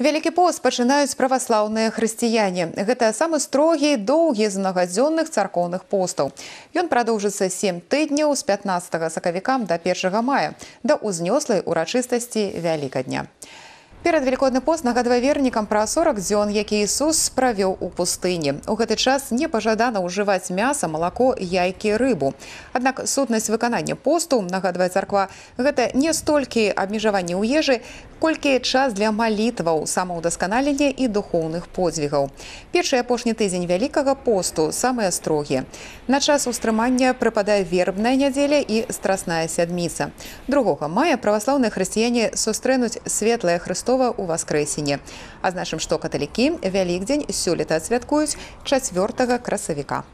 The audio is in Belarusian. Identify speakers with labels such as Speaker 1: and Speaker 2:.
Speaker 1: Вялікі пост пачынаюць праваслаўныя хрысціяне. Гэта самы строгі, доўгі з мнагадзённых царкоўных постаў. Ён прадоўжыцца 7 тыдняў з 15 сакавіка да 1 мая, да ўзнёслай урачыстасці Вялікадня. Перад Велікодны пост нагадвае вернікам пра 40 дзён, які Ісус правёў у пустыні. У гэты час не пажадана ўжываць мяса, малако, яйкі, рыбу. Аднак сутнасць выканання посту, нагадвае царква, гэта не столькі абмежаванне ў ежы, колькі час для малітваў, самаўдасканалення і духоўных подзвігаў. Першы і апошні тыдзень Вялікага посту самыя строгія. На час устрымання прыпадае вербная нядзеля і страсная сядміца. 2 мая праваслаўныя хрысціяне сустрэнуць светлае Хрыстова у Васкрэсенне. Азначым, што каталікі Вялікдзень сёлета адсвяткуюць 4 красавіка.